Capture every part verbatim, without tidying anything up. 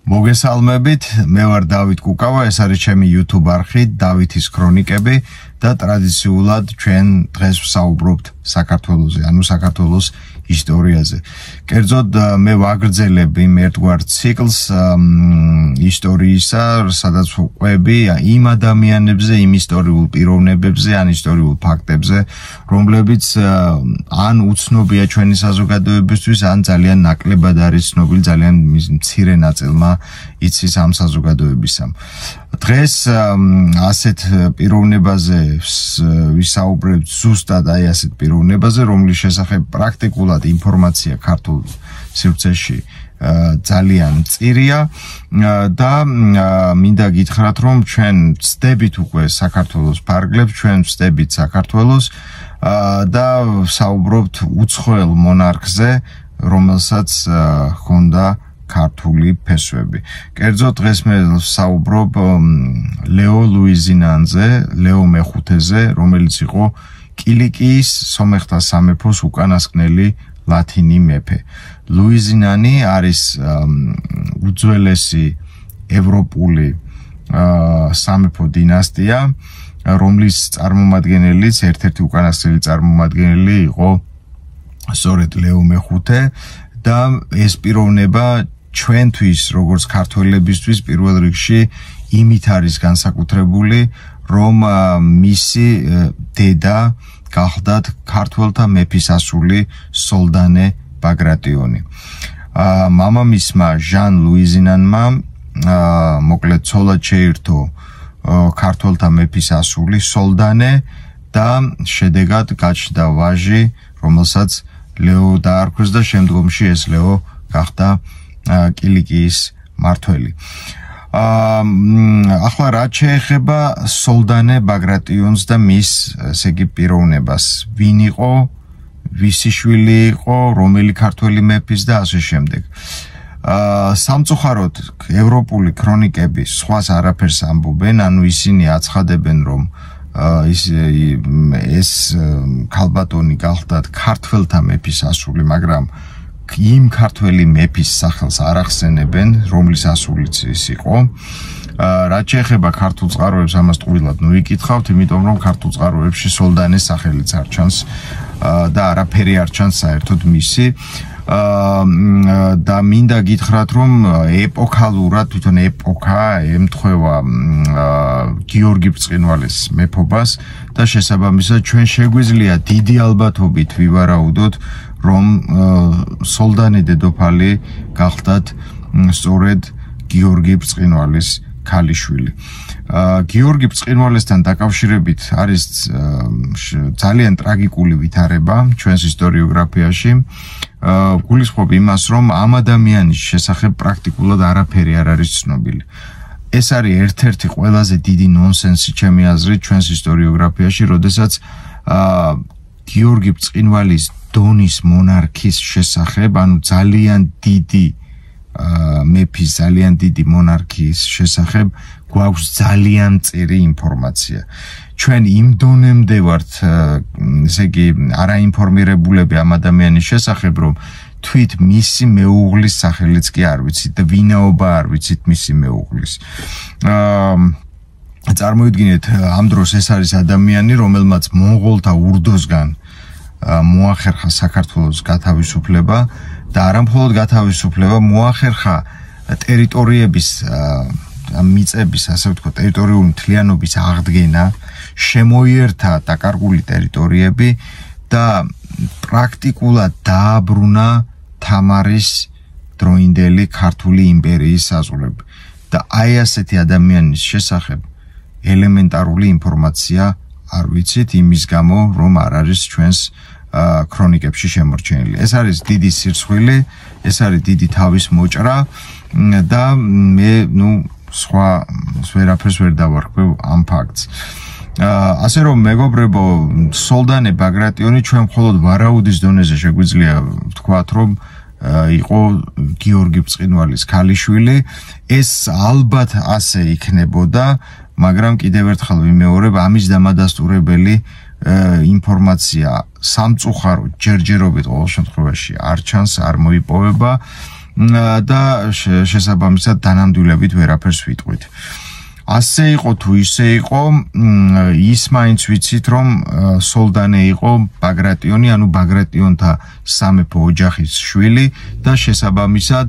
მოგესალმებით, მე ვარ დავით კუკავა, ეს არის ჩემი YouTube არხი, დავითის ქრონიკები და ტრადიციულად ჩვენ დღეს ვსაუბრობთ საქართველოზე, ანუ საქართველოს ისტორიაზე. კერძოდ მე ვაგრძელებ იმ ერთგვარ ციკლს ისტორიისა, სადაც ვყვები იმ ადამიანებზე, იმ ისტორიულ პიროვნებებზე, ან ისტორიულ ფაქტებზე, რომლებიც ან უცნობია ჩვენი საზოგადოებისთვის, ან ძალიან ნაკლებად არის ცნობილი, ძალიან მცირე ნაწილმა იცის ამ საზოგადოებისა. დღეს ასეთ პიროვნებაზე ვისაუბრებთ ზუსტად აი ასეთ პიროვნებაზე, რომლის შესახებ პრაქტიკულად ინფორმაცია ქართულ სივრცეში ძალიან მწირია და მინდა გითხრათ, რომ ჩვენ ვწდებით უკვე საქართველოს ფარგლებს, ჩვენ ვწდებით საქართველოს და ვსაუბრობთ უცხოელ მონარქზე, რომელსაც ჰქონდა ქართული ფესვები. კერძოდ დღეს მე ვსაუბრობ ლეო ლუიზინანზე, ლეო მეხუთეზე, რომელიც იყო კილიკიის სომეხთა სამეფოს უკანასკნელი ლათინი მეფე. ლუიზინანი არის უძველესი ევროპული სამეფო დინასტია, რომლის წარმომადგენელიც, ერთ-ერთი უკანასკნელი წარმომადგენელი იყო სწორედ ლეო მეხუთე და ეს პიროვნება ჩვენთვის, როგორც ქართველებისთვის, პირველ რიგში იმით არის განსაკუთრებული, რომ მისი დედა გახლდათ ქართველთა მეფისასული სოლდანე ბაგრატიონი. მამამისმა ჟან ლუიზინანმა მოკლედ ცოლად შეირთო ქართველთა მეფისასული სოლდანე და შედეგად გაჩნდა ვაჟი, რომელსაც ლეო დაარქვეს და შემდგომში ეს ლეო გახდა კილიკიის მმართველი. ახლა რაც შეეხება სოლდანე ბაგრატიონს და მის ესე იგი პიროვნებას, ვინ იყო, ვისი შვილი იყო, რომელი ქართველი მეფის და ასე შემდეგ. სამწუხაროდ ევროპული ქრონიკები სხვას არაფერს ამბობენ, ანუ ისინი აცხადებენ, რომ ის ეს ქალბატონი გახლდათ ქართველთა მეფისასული, მაგრამ იმ ქართველი მეფის სახელს არ ახსენებენ, რომლის ასულიც ის იყო. რაც შეეხება ქართულ წყაროებს, ამას ტყუილად ნუიკითხავთ, იმიტომ რომ ქართულ წყაროებში სოლდანეს სახელიც არ ჩანს და არაფერი არ ჩანს საერთოდ მისი. და მინდა გითხრათ, რომ ეპოქალურად, თვითონ ეპოქა ემთხვევა გიორგი ბრწყინვალეს მეფობას და შესაბამისად ჩვენ შეგვიძლია დიდი ალბათობით ვივარაუდოთ, რომ სოლდანე დედოფალი გახლდათ სწორედ გიორგი ბრწყინვალეს ქალიშვილი. გიორგი ბრწყინვალესთან დაკავშირებით არის ძალიან ტრაგიკული ვითარება ჩვენს ისტორიოგრაფიაში. გულისხმობ იმას, რომ ამ ადამიანის შესახებ პრაქტიკულად არაფერი არ არის ცნობილი. ეს არის ერთ-ერთი ყველაზე დიდი ნონსენსი ჩემი აზრით ჩვენს ისტორიოგრაფიაში, როდესაც გიორგი ბრწყინვალის დონის მონარქის შესახებ, ანუ ძალიან დიდი მეფის, ძალიან დიდი მონარქიის შესახებ გვაქვს ძალიან მწირი ინფორმაცია. ჩვენ იმ დონემდე ვართ, ესე იგი, არაინფორმირებულები ამ ადამიანის შესახებ, რომ თვით მისი მეუღლის სახელიც კი არ ვიცით და ვინაობა არ ვიცით მისი მეუღლის. წარმოიდგინეთ, ამ დროს ეს არის ადამიანი, რომელმაც მონღოლთა ურდოსგან მოახერხა საქართველოს გათავისუფლება და არა მხოლოდ გათავისუფლება, მოახერხა ტერიტორიების მიწების, ასე ვთქვათ, ტერიტორიული მთლიანობის აღდგენა, შემოიერთა დაკარგული ტერიტორიები და პრაქტიკულად დააბრუნა თამარის დროინდელი ქართული იმპერიის საზღვრები. და აი ასეთი ადამიანის შესახებ ელემენტარული ინფორმაცია არ ვიცით, იმის გამო, რომ არ არის ჩვენს ქრონიკებში შემორჩენილი. ეს არის დიდი სირცხვილი, ეს არის დიდი თავის მოჭრა და მე, ნუ, სხვა ვერაფერს ვერ დავარქვევ ამ ფაქტს. ასე რომ მეგობრებო, სოლდანე ბაგრატიონი ჩვენ მხოლოდ ვარაუდის დონეზე შეგვიძლია ვთქვათ, რომ იყო გიორგი ბრწყინვალის ქალიშვილი. ეს ალბათ ასე იქნებოდა, მაგრამ კიდევ ერთხელ ვიმეორებ, ამის დამადასტურებელი ინფორმაცია სამწუხაროდ ჯერჯერობით ყოველ შემთხვევაში არ ჩანს, არ მოიპოვება და შესაბამისად დანამდვილებით ვერაფერს ვიტყვით. ასე იყო თუ ისე იყო, ის მაინც ვიცით, რომ სოლდანე იყო ბაგრატიონი, ანუ ბაგრატიონთა სამეფო ოჯახის შვილი და შესაბამისად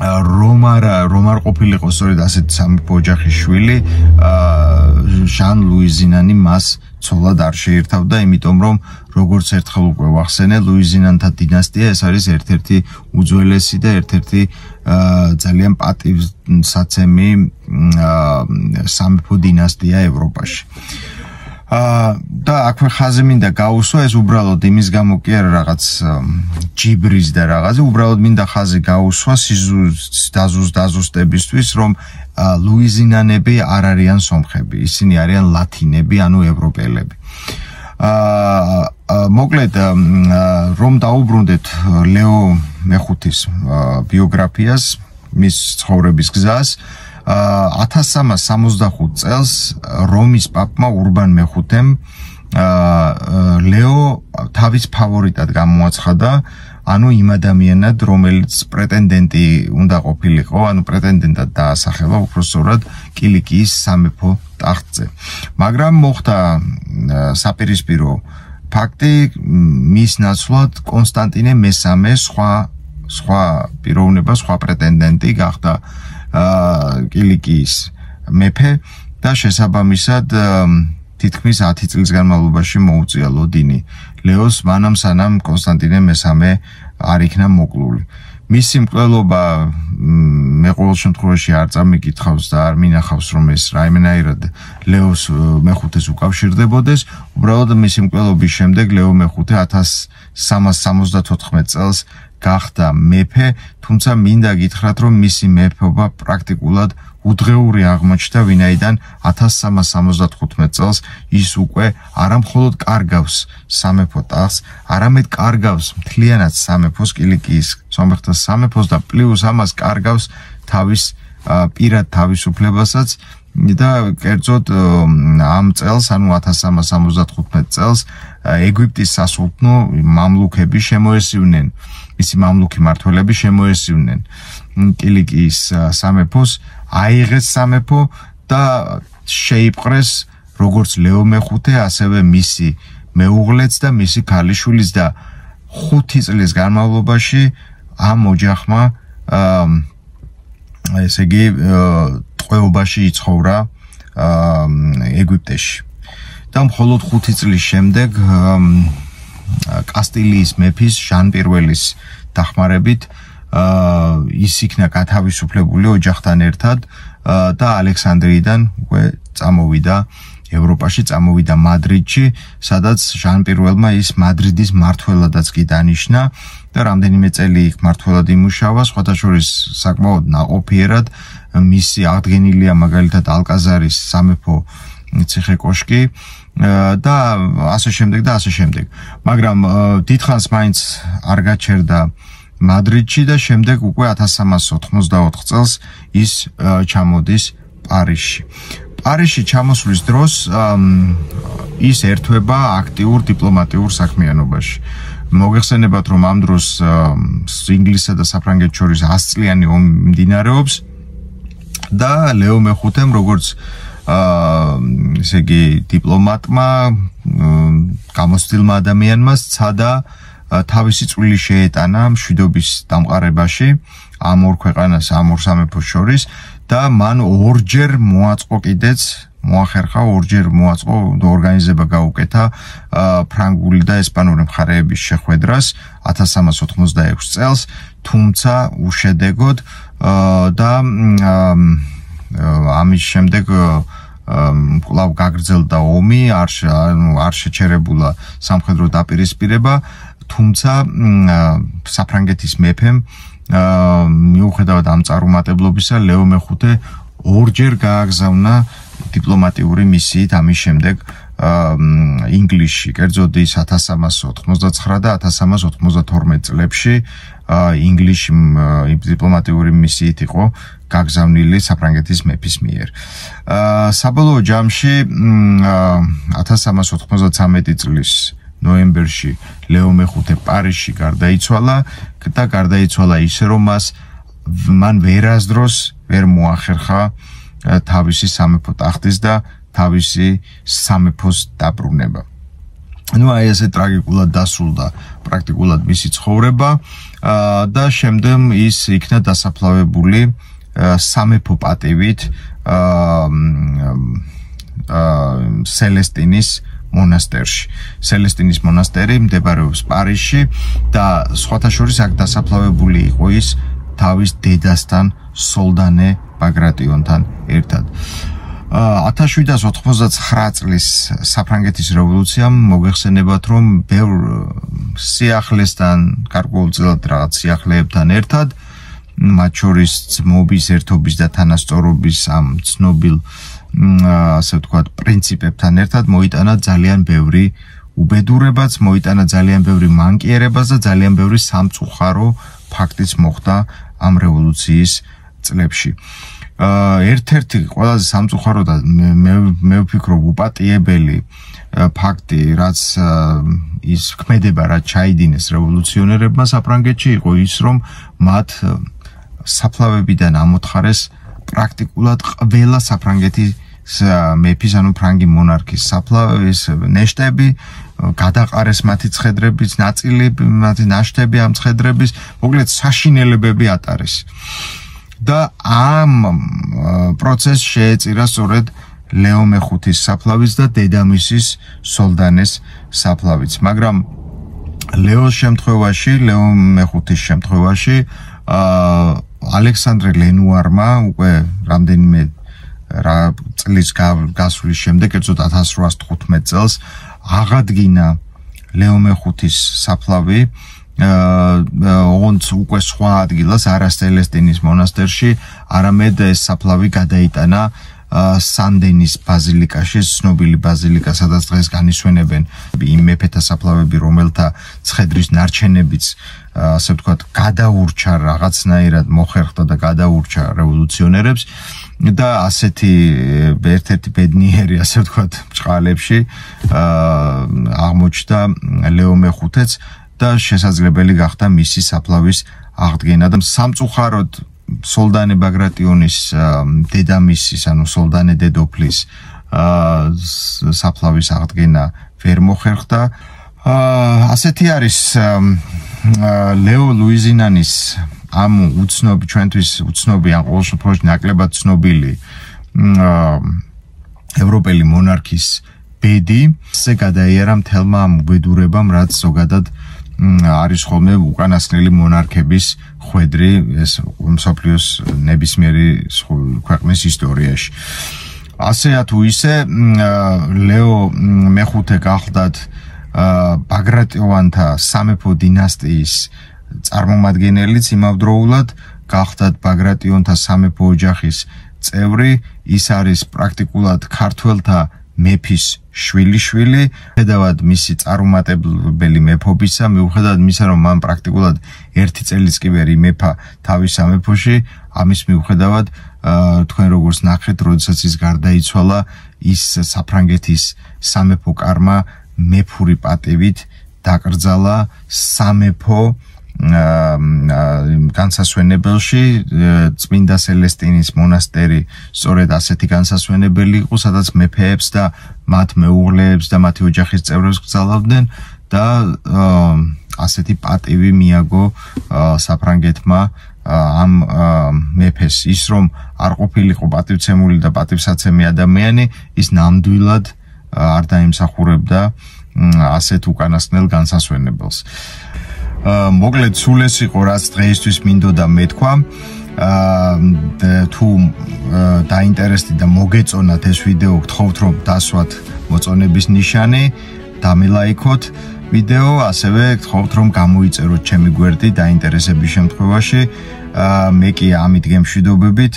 რომ არა რომ არ ყოფილიყო სწორედ ასეთ სამეფო ოჯახის შვილი, ჟან ლუიზინანი მას ცოლად არ შეერთავდა, იმიტომ რომ როგორც ერთხელ უკვე ვახსენე, ლუიზინანთა დინასტია ეს არის ერთ-ერთი უძველესი და ერთ-ერთი ძალიან პატივსაცემი სამეფო დინასტია ევროპაში. და აქვე ხაზი მინდა გაუსვა, ეს უბრალოდ იმის გამო კი არა რაღაც ჯიბრის და რაღაცა, უბრალოდ მინდა ხაზი გაუსვა სიზუს დაზუსტებისთვის, რომ ლუიზინანები არ არიან სომხები, ისინი არიან ლათინები, ანუ ევროპელები. მოკლედ რომ დაუბრუნდეთ ლეო მეხუთის ბიოგრაფიას, მის ცხოვრების გზას, ათას სამას სამოცდახუთ წელს რომის პაპმა ურბან მეხუთემ ლეო თავის ფავორიტად გამოაცხადა, ანუ იმ ადამიანად, რომელიც პრეტენდენტი უნდა ყოფილიყო, ანუ პრეტენდენტად დაასახელა უბრალოდ კილიკიის სამეფო ტახტზე. მაგრამ მოხდა საპირისპირო ფაქტი, მის ნაცვლად კონსტანტინე მესამე სხვა სხვა პიროვნება, სხვა პრეტენდენტი გახდა კილიკიის მეფე და შესაბამისად თითქმის ათი წლის განმავლობაში მოუწია ლოდინი ლეოს, მანამ სანამ კონსტანტინე მესამე არ იქნა მოკლული. მისი მკვლელობა მე ყოველ შემთხვევაში არ წამიკითხავს და არ მინახავს, რომ ეს რაიმენაირად ლეოს მეხუთეს უკავშირდებოდეს. უბრალოდ მისი მკვლელობის შემდეგ ლეო მეხუთე ათას სამას სამოცდათოთხმეტ წელს გახდა მეფე, თუმცა მინდა გითხრათ, რომ მისი მეფობა პრაქტიკულად უდღეური აღმოჩნდა, ვინაიდან ათას სამას სამოცდათხუთმეტ წელს ის უკვე არამხოლოდ კარგავს სამეფო ტახტს, არამედ კარგავს მთლიანად სამეფოს, კილიკიის სომეხთა სამეფოს და პლუს ამას კარგავს თავის პირად თავისუფლებასაც და კერძოდ ამ წელს, ანუ ათას სამას სამოცდათხუთმეტ წელს ეგვიპტის სასულთნო მამლუქები შემოესივნენ, მისი მამლუქი მმართველები შემოესივნენ კილიკიის სამეფოს, აიღეს სამეფო და შეიპყრეს როგორც ლეო მეხუთე, ასევე მისი მეუღლეც და მისი ქალიშვილიც და ხუთი წლის განმავლობაში ამ ოჯახმა ესე იგი ტყვეობაში იცხოვრა ეგვიპტეში. და მხოლოდ ხუთი წლის შემდეგ კასტილიის მეფის ჟან პირველის დახმარებით ის იქნა გათავისუფლებული ოჯახთან ერთად და ალექსანდრიიდან უკვე წამოვიდა ევროპაში, წამოვიდა მადრიდში, სადაც ჟან პირველმა ის მადრიდის მმართველადაც კი დანიშნა და რამდენიმე წელი იქ მმართველად იმუშავა, სხვათა შორის საკმაოდ ნაყოფიერად. მისი აღდგენილია მაგალითად ალკაზარის სამეფო ციხე-კოშკი და ასე შემდეგ და ასე შემდეგ. მაგრამ დიდხანს მაინც არ გაჩერდა მადრიდში და შემდეგ უკვე ათას სამას ოთხმოცდაოთხ წელს ის ჩამოდის პარიზში. პარიზში ჩამოსვლის დროს ის ერთვება აქტიურ დიპლომატიურ საქმიანობაში. მოგეხსენებათ, რომ ამ დროს ინგლისსა და საფრანგეთს შორის ას წლიანი ომი მიმდინარეობს და ლეო მეხუთემ როგორც ესე იგი დიპლომატმა, გამოცდილმა ადამიანმა სცადა თავისი წვლილი შეეტანა მშვიდობის დამყარებაში ამ ორ ქვეყანას, ამ ორ სამეფოს შორის და მან ორჯერ მოაწყო კიდეც, მოახერხა ორჯერ მოაწყო და ორგანიზება გაუკეთა ფრანგული და ესპანური მხარეების შეხვედრას ათას სამას ოთხმოცდაექვსი წელს, თუმცა უშედეგოდ და ამის შემდეგ კვლავ გაგრძელდა ომი, არ არ შეჩერებულა სამხედრო დაპირისპირება, თუმცა საფრანგეთის მეფემ მიუხედავად ამ წარუმატებლობისა ლეო მეხუთე ორჯერ გააგზავნა დიპლომატიური მისიით ამის შემდეგ ინგლისში, კერძოდ ის ათას სამას ოთხმოცდაცხრა და ათას სამას ოთხმოცდათორმეტ წლებში ინგლისში დიპლომატიური მისიით იყო გაგზავნილი საფრანგეთის მეფის მიერ. საბოლოო ჯამში ათას სამას ოთხმოცდათვრამეტი წლის ნოემბერში ლეო მეხუთე პარიზში გარდაიცვალა და გარდაიცვალა ისე რომ მას მან ვერასდროს ვერ მოახერხა თავისი სამეფო ტახტის და თავისი სამეფოს დაბრუნება. Ну, აი ესე ტრაგიკულად დასრულდა პრაქტიკულად მისი ცხოვრება და შემდეგ ის იქნა დასაფლავებული სამეფო პატივით სელესტინის მონასტერში. სელესტინის მონასტერი მდებარეობს პარიზში და სხვათა შორის აქ დასაფლავებული იყო ის თავის დედასთან სოლდანე ბაგრატიონთან ერთად. ათას შვიდსათ ოთხმოცდაცხრა წლის საფრანგეთის რევოლუციამ მოგეხსენებათ, რომ ბევრ სიახლესთან, გარკვეულწილად რაღაც სიახლეებთან ერთად, მათ შორის ძმობის, ერთობის და თანასწორობის ამ ცნობილ ასე ვთქვათ, პრინციპებთან ერთად მოიტანა ძალიან ბევრი უბედურებაც, მოიტანა ძალიან ბევრი მანკიერებას და ძალიან ბევრი სამწუხარო ფაქტიც მოხდა ამ რევოლუციის წლებში. ერთ-ერთი ყველაზე სამწუხარო და მე ვფიქრობ უპატიებელი ფაქტი, რაც ის ქმედება, რაც ჩაიდინეს რევოლუციონერებმა საფრანგეთში, იყო ის, რომ მათ საფლავებიდან ამოთხარეს პრაქტიკულად ყველა საფრანგეთის მეფის, ანუ ფრანგი მონარქის საფლავის ნეშტები, გადაყარეს მათი ცხედრების ნაწილი, მათი ნაშთები ამ ცხედრების, მოკლედ საშინელებები ატარეს. და ამ პროცესს შეეწირა სწორედ ლეო მეხუთის საფლავის და დედამისის სოლდანეს საფლავიც. მაგრამ ლეოს შემთხვევაში, ლეო მეხუთის შემთხვევაში ალექსანდრე ლენუარმა უკვე რამდენიმე წლის გასვლის შემდეგ, კერძოდ ათას რვაას თხუთმეტ წელს აღადგინა ლეო მეხუთის საფლავი ოღონდ უკვე სხვა ადგილას, არა სელესტინის მონასტერში, არამედ ეს საფლავი გადაიტანა სანდენის ბაზილიკაში, ცნობილი ბაზილიკა, სადაც დღეს განისვენებენ იმ მეფეთა საფლავები, რომელთა ცხედრის ნარჩენებიც, ასე ვთქვათ, გადაურჩა რაღაცნაირად მოხერხდა და გადაურჩა რევოლუციონერებს და ასეთი ერთ-ერთი ბედნიერი, ასე ვთქვათ, ბრჭყალებში აღმოჩნდა ლეო მეხუთეც და შესაძლებელი გახდა მისი საფლავის აღდგენა და სამწუხაროდ სოლდანე ბაგრატიონის დედამისის, ანუ სოლდანე დედოფლის საფლავის აღდგენა ვერ მოხერხდა. ასეთი არის ლეო ლუიზინანის ამ უცნობი, ჩვენთვის უცნობი, ან ყოველ შემთხვევაში ნაკლებად ცნობილი ევროპელი მონარქის ბედი, ესე გადაიარა მთელმა ამ უბედურებამ, რაც ზოგადად არის ხოლმე უკანასკნელი მონარქების ხვედრი ეს მსოფლიოს ნებისმიერი ქვეყნის ისტორიაში. ასეა თუ ისე, ლეო მეხუთე გახლდათ ბაგრატიონთა სამეფო დინასტიის წარმომადგენელიც, იმავდროულად გახლდათ ბაგრატიონთა სამეფო ოჯახის წევრი, ის არის პრაქტიკულად ქართველთა მეფის შვილი-შვილი, მიუხედავად მისი წარუმატებელი მეფობისა, მიუხედავად იმისა, რომ მან პრაქტიკულად ერთი წელიც კი ვერ იმეფა თავის სამეფოში, ამის მიუხედავად თქვენ როგორც ნახეთ, როდესაც ის გარდაიცვალა, ის საფრანგეთის სამეფო კარმა მეფური პატივით დაკრძალა სამეფო განსასვენებელში. წმინდა სელესტინის მონასტერი სწორედ ასეთი განსასვენებელი იყო, სადაც მეფეებს და მათ მეუღლეებს და მათი ოჯახის წევრებს გრძალავდნენ და ასეთი პატივი მიაგო საფრანგეთმა ამ მეფეს. ის რომ არ ყოფილიყო პატივცემული და პატივსაცემი ადამიანი, ის ნამდვილად არ დაიმსახურებდა ასეთ უკანასკნელ განსასვენებელს. მოკლედ სულ ეს იყო, რაც დღეისთვის მინდოდა მეთქვა. თუ დაინტერესდით და მოგეწონათ ეს ვიდეო, გთხოვთ რომ დასვათ მოწონების ნიშანი, დამილაიქოთ ვიდეო, ასევე გთხოვთ რომ გამოიწეროთ ჩემი გვერდი დაინტერესების შემთხვევაში. მე კი ამით გემშვიდობებით,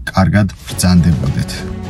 კარგად ბრძანდებოდეთ.